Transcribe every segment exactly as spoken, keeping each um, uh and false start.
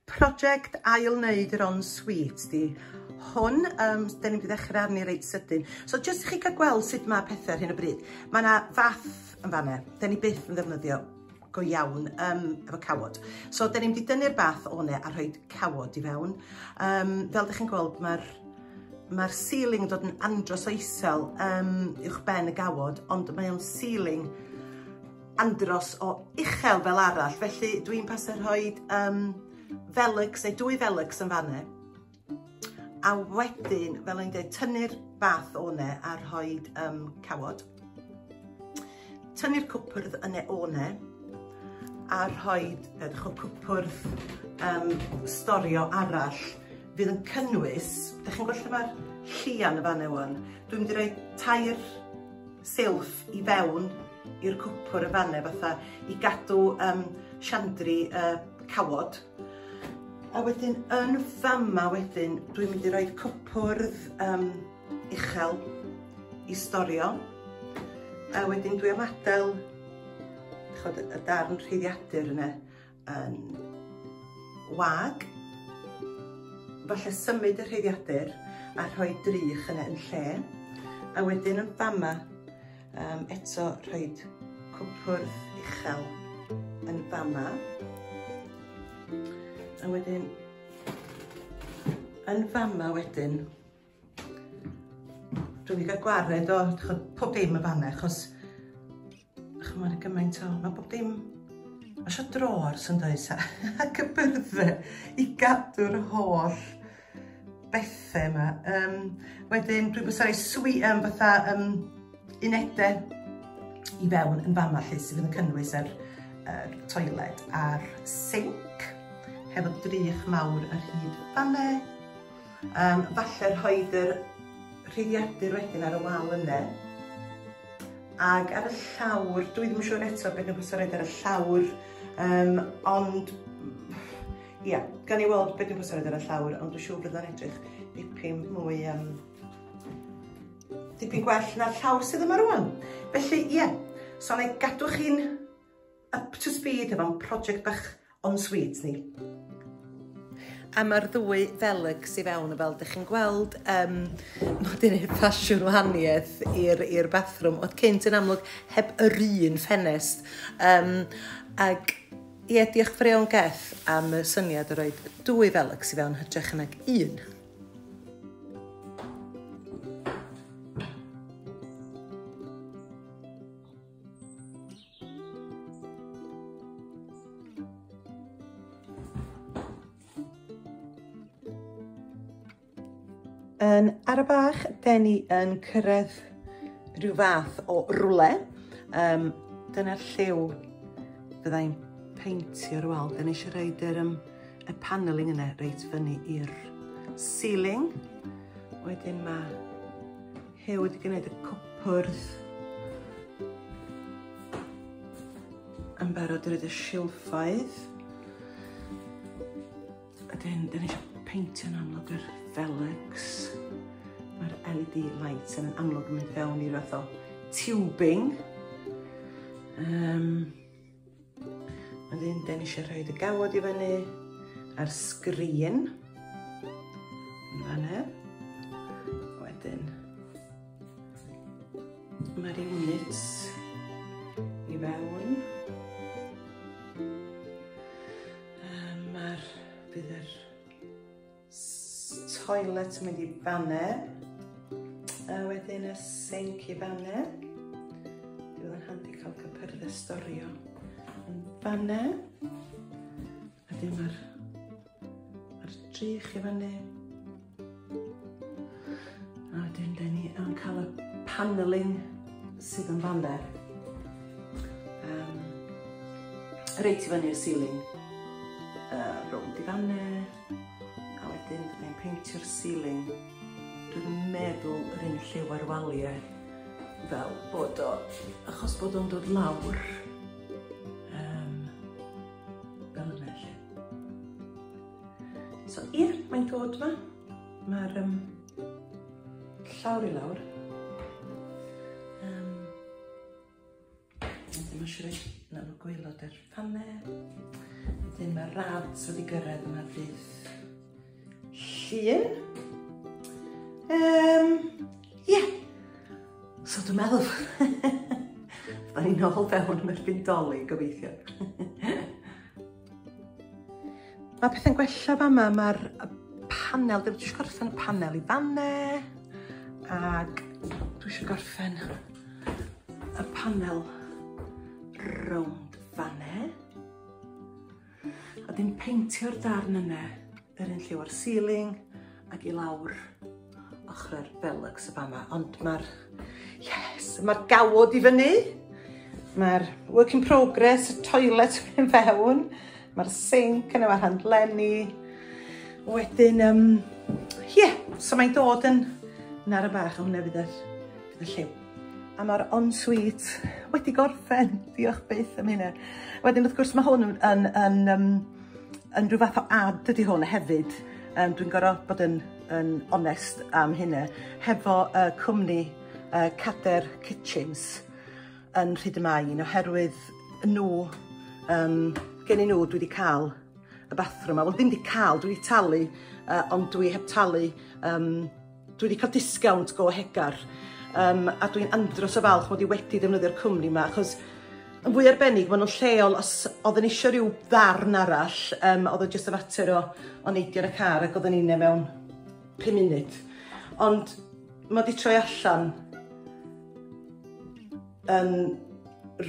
Project ail wneud yr ensuite di hwn, um, da ni'n mynd i ddechrau arni reit sydyn. So jyst i chi cael gweld sut mae pethau ar hyn o bryd. Mae yna fath yn fanna, da ni byth yn ddefnyddio go iawn um, efo cawod. So da ni'n mynd i dynnu'r bath o'n e a rhoi cawod i fewn. Um, fel ydych chi'n gweld, mae'r mae'r ceiling yn dod yn andros o isel um, uwch ben y gawod, ond mae o'n ceiling andros o uchel fel arall. Felly dwi'n pasio rhoi um, Velux, neu dwy Velux yn fanna. A wedyn, fel o'n dweud, tynnu'r bath o'n e a rhoi um, cawod. Tynnu'r cwpwrdd yna o'n e a rhoi edrych o cwpwrdd um, storio arall fydd yn cynnwys, ydych chi'n gweld lle mae'r llian y fan wan, dwi'n mynd i roi tair silff i fewn i'r cwpwr y fanne fatha i gadw um, siandri uh, cawod. A wedyn yn fama wedyn dwi'n mynd i roi cwpwrdd um, uchel i storio. A wedyn dwi am adael chod, y darn rheiddiadur yna yn wag. Falle symud y rheiddiadur a rhoi drych yna yn lle. A wedyn yn fama um, eto rhoi cwpwrdd uchel yn fama. A wedyn yn fama wedyn dwi'n mynd i gael gwared o chod, pob dim yn fanna, achos chod, mae'n gymaint o, mae bob dim, mae eisiau drawers yn does ac y byrddau i gadw'r holl bethau yma. Um, wedyn dwi'n bwysau rhoi swi, um, fatha um, unedau i fewn yn fama lle sydd yn cynnwys yr, yr toiled a'r sink hefo drych mawr ar hyd fanne. Um, falle rhoid yr rheiddiadur wedyn ar y wal yna. Ag ar y llawr, dwi ddim yn siŵr eto beth dwi'n bwysau roed ar y llawr, um, ond ia, gan i weld beth dwi'n bwysau roed ar y llawr, ond dwi'n siŵr bydd o'n edrych dipyn mwy, um, dipyn gwell na'r llawr sydd yma rwan. Felly, ie, so na i gadw chi'n up to speed efo'n project bach ensuite ni. A mae'r ddwy Velux i fewn, fel ydych chi'n gweld, um, mae wedi gwneud ffasiwn wahaniaeth i'r i'r bathroom. Oedd cynt yn amlwg heb yr un ffenest. Um, ag ie, diolch fawr iawn Geth am y syniad o roi dwy Velux i fewn hytrach nag un. Yn ara bach, den ni yn cyrraedd rhyw fath o rwle. Um, dyna'r lliw fyddai'n peintio'r wal. Den ni eisiau rhoid yr, um, y paneling yna reit fyny i'r ceiling. Wedyn mae Huw wedi gwneud y cwpwrdd yn barod i roed y silffoedd. Wedyn, den ni eisiau peintio'n amlwg yr Velux. Mae'r L E D lights yn amlwg yn mynd fewn i fath o tubing. Um, wedyn, den ni eisiau rhoi y gawod i fyny ar sgrin. Yn fanna. Wedyn, mae'r units i fewn. Um, mae'r, bydd yr toilet yn mynd i fanne, a wedyn y sink i fanne. Dwi'n yn handi cael cypyrddau storio yn fanne. A wedyn mae'r mae'r drych i fyny. A wedyn den ni yn cael y paneling sydd yn fanne. Um, reit i fyny'r ceiling. Uh, rownd i fanne. A wedyn byddai'n peintio'r ceiling. Dwi'n meddwl yr un lliw ar waliau fel bod o, achos bod o'n dod lawr um, fel yna lle. So ie, mae'n dod yma. Mae'r um, llawr i lawr. Um, wedyn mae eisiau rhoi nawr gwaelod yr ffanau. Wedyn mae'r rads wedi gyrraedd yma ddydd Llun. Um, yeah. So dwi'n meddwl, fydda ni'n ôl fewn am erbyn Dolig, gobeithio. Mae pethau'n gwella fama, mae'r panel, dwi eisiau gorffen y panel i fanne, ac dwi eisiau gorffen y panel rownd fanne. A dyn peintio'r darn yna, yr un lliw o'r ceiling ac i lawr ochrau'r Velux y fama. Ond mae'r, yes, mae'r gawod i fyny, mae'r work in progress, y toilet yn fewn, mae'r sink yn efo'r handlenni. Wedyn, um, yeah, so mae'n dod yn, yn ar y bach, a hwnna fydd yr, fydd y lliw. A mae'r ensuite wedi gorffen, diolch byth am hynna. Wedyn, wrth gwrs, mae hwn yn, yn, yn, um, yn rhyw fath o ad ydy hwn hefyd. Um, dwi'n gorfod bod yn, yn onest am hynna. Hefo uh, cwmni uh, Cader Kitchens yn Rhyd-y-main, oherwydd nhw, um, gen i nhw dwi wedi cael y bathroom yma. Wel, ddim wedi cael, dwi wedi talu, uh, ond dwi heb talu, um, dwi wedi cael disgownt go hegar. Um, a dwi'n andros o falch mod i wedi defnyddio'r cwmni yma, achos yn fwy arbennig, maen nhw'n lleol, os oedden ni eisiau rhyw ddarn arall, um, oedd o jyst y fater o, o neidio yn y car ac oedden ni'n mewn pum munud. Ond mae wedi troi allan yn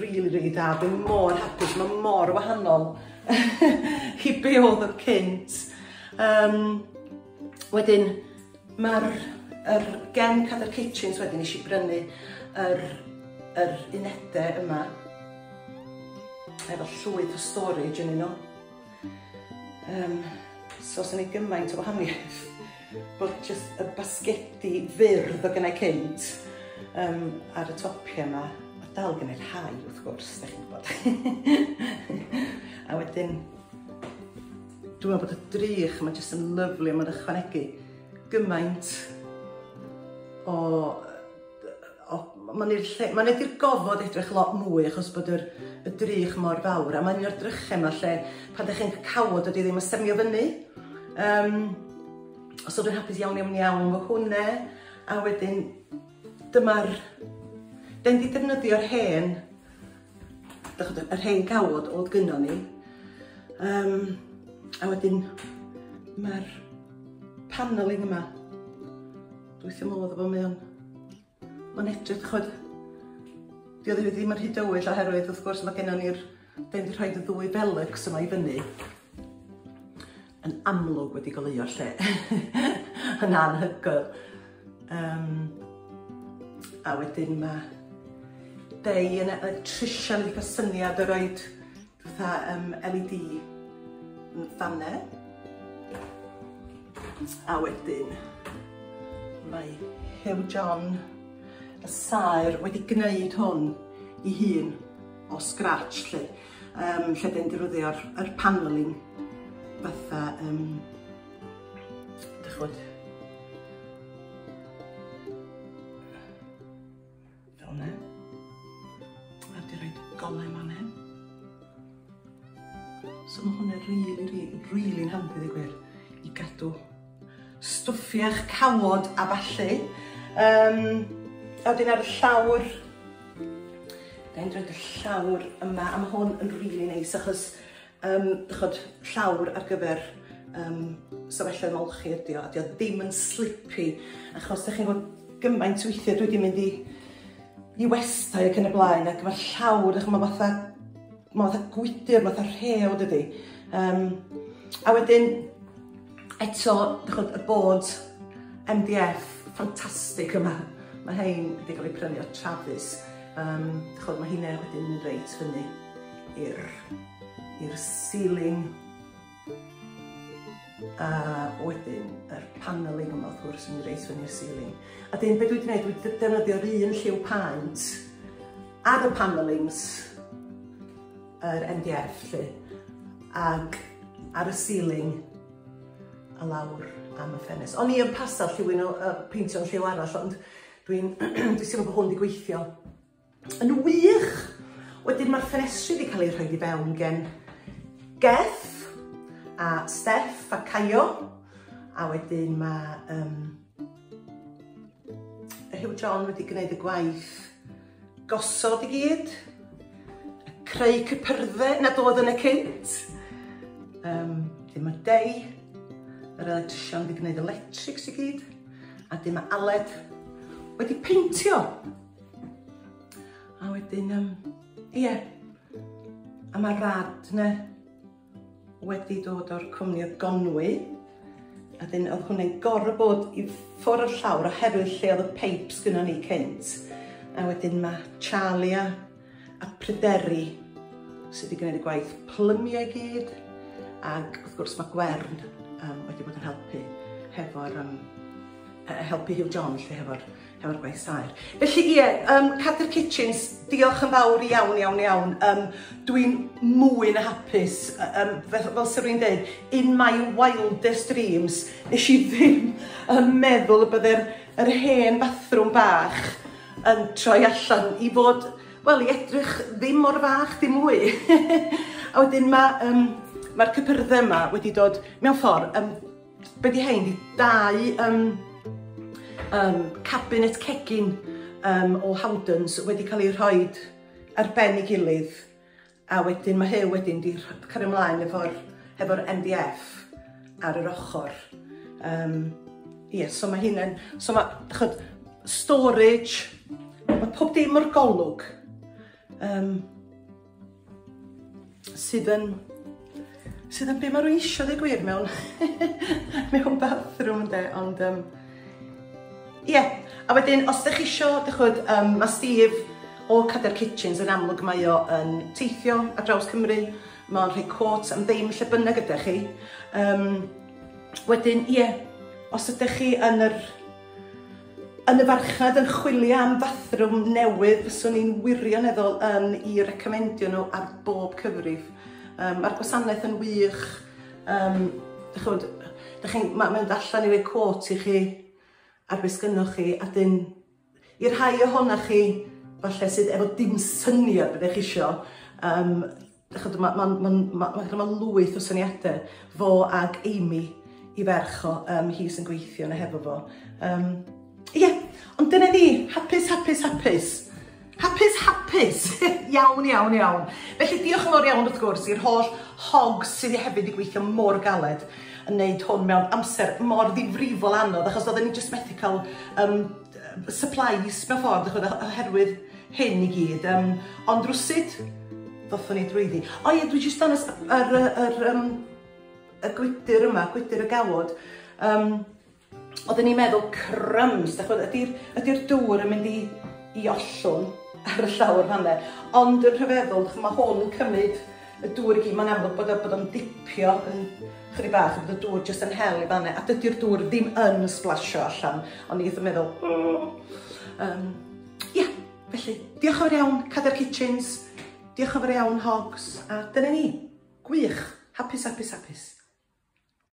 really, really da. Dwi'n mor hapus, mae mor wahanol i be oedd o cynt. Um, wedyn, mae'r yr gen Cader Kitchens wedyn nes i brynu yr, yr unedau yma efo llwyth o storage yn nhw. Um, so os yna gymaint o wahaniaeth bod just y basgedi fyrdd o gynnau cynt um, ar y topiau yma. A dal gynnau rhai wrth gwrs, da chi'n gwybod. A wedyn, dwi'n meddwl bod y drych yma jyst yn lyfli, mae'n ychwanegu gymaint o, o mae'n mae'n neud i'r gofod edrych lot mwy achos bod yr, y drych mor fawr, a mae'n un o'r drychau yma lle pan ydych chi'n cawod ydy ddim yn semio fyny. Um, so dwi'n hapus iawn iawn iawn efo hwnna, a wedyn dyma'r, den di defnyddio'r hen, yr hen gawod oedd gynnon ni. Um, a wedyn mae'r paneling yma, dwi wrth fy modd efo, mae o'n, mae'n edrych, ch'od, di o ddim yn rhy dywyll oherwydd wrth gwrs mae gennon ni'r, den di rhoi y ddwy Velux yma i fyny, yn amlwg wedi goleuo'r lle, yn anhygoel. Um, a wedyn mae Dei yn electrician wedi cael syniad o roed fatha um, L E D yn fanne. A wedyn mae Hugh John, y saer, wedi gwneud hwn i hun o scratch lle. Um, lle dyn defnyddio'r yr paneling fatha, um, dych ch'bod, fel yna. A wedi rhoi golau man hyn. So mae hwnna rili, rili, rili'n handi ddeud gwir i gadw stwffiach cawod a ballu. Um, a wedyn ar y llawr, da ni'n rhoid y llawr yma, a mae hwn yn rili neis achos um, chod, llawr ar gyfer um, stafelloedd molchi ydi o, a di o ddim yn slippy, achos da chi'n gwybod gymaint weithiau dwi wedi mynd i, i westai ac yn y blaen, ac mae'r llawr, mae fatha, mae fatha gwydyr, mae fatha rhew dydi. Um, a wedyn, eto, chod, y bod M D F ffantastig yma. Mae hein wedi cael ei prynu o Travis. Um, chod, mae hynna wedyn mynd reit fyny i'r i'r ceiling. A wedyn yr paneling yma wrth gwrs yn mynd reit fyny i'r ceiling. A dyn, be dwi wedi gwneud, dwi wedi defnyddio'r un lliw paent ar y panelings, yr M D F lle, ag ar y ceiling a lawr am y ffenest. O'n i yn pasio lliwyn o uh, peintio'n lliw arall, ond dwi'n dwi'n teimlo bod hwn wedi gweithio yn wych. Wedyn mae'r ffenestri wedi cael ei rhoi i fewn gen Geth. a Steff a Caio, a wedyn mae um, Huw John wedi gwneud y gwaith gosod i gyd, creu cypyrddau nad oedd yn y cynt. Um, dim mae Dei, yr electrician, wedi gwneud electrics i gyd, a dim mae Aled wedi peintio. A wedyn, um, ie, a mae Rad ne wedi dod o'r cwmni o Gonwy, a dyn oedd hwnna'n gorfod bod i ffwrdd o'r llawr oherwydd lle oedd y pipes gynnon ni cynt. A wedyn mae Charlie a, a Pryderi sydd wedi gwneud y gwaith plymio i gyd, ac wrth gwrs mae Gwern um, wedi bod yn helpu hefo'r um, helpu Huw John lle hefo'r hefo'r gwaith saer. Felly ie, um, Cadair Kitchens, diolch yn fawr iawn, iawn, iawn. Um, dwi'n mwy na hapus, um, fel, fel sy'n rwy'n dweud, in my wildest dreams, nes i ddim yn meddwl y bydde'r yr hen bathrwm bach yn troi allan i fod, wel, i edrych ddim mor fach, dim mwy. A wedyn mae um, mae'r cypyrddau yma wedi dod mewn ffordd, um, be di hein, di dau um, um, cabinet cegin um, o Howdens wedi cael ei rhoi ar ben ei gilydd, a wedyn mae Huw wedyn di cario ymlaen efo'r hefo M D F ar yr ochr. Um, ie, so mae hynny'n, so mae, chod, storage, mae pob dim o'r golwg um, sydd yn sydd yn be mae rwy'n isio dweud gwir mewn mewn bathroom ynde, ond um, ie. Yeah. A wedyn os ydych chi isio, dych um, mae Steve o Cadair Kitchens yn amlwg mae o yn teithio ar draws Cymru, mae'n rhoi quotes am ddim lle bynnag ydych chi. Um, wedyn ie, yeah, os ydych chi yn yr yn y farchnad yn chwilio am bathrwm newydd, fyswn i'n wirioneddol yn i recomendio nhw ar bob cyfrif. Um, Mae'r gwasanaeth yn wych. Um, dych chi'n, dych chi'n, mae'n mynd allan i roi quote i chi ar beth sgynnoch chi, a dyn, i'r rhai ohonoch chi, falle sydd efo dim syniad beth ydych chi isio, um, mae ma, ma, ma, ma, ma lwyth o syniadau, fo ag Amy i ferch o, um, hi sy'n gweithio yna hefo fo. Um, Ie, yeah, ond dyna ni, hapus, hapus, hapus. Hapus, hapus. Iawn, iawn, iawn. Felly diolch yn fawr iawn wrth gwrs i'r holl hogs sydd hefyd wedi gweithio mor galed yn neud hwn mewn amser mor ddifrifol anodd, achos oedden ni jyst methu cael um, supplies mewn ffordd oherwydd hyn i gyd. Um, ond rwsut, ddothon ni drwyddi. O ie, dwi jyst dangos yr, yr, yr, um, y gwydr yma, gwydr y gawod. Um, Oedden ni'n meddwl crumbs, ydy'r ydy dŵr yn mynd i, i ollwng ar y llawr fan'na. Ond yn rhyfeddol, mae hwn yn cymryd y dŵr i gyd, mae'n amlwg bod, bod o'n dipio yn chydig bach, bod y dŵr jyst yn hel i fan'na, a dydy'r dŵr ddim yn splasio allan. Ond ni yn meddwl, oh. Um, ia, felly, diolch yn fawr iawn, Cadair Kitchens, diolch yn fawr iawn, Hogs, a dyna ni, gwych, hapus, hapus, hapus.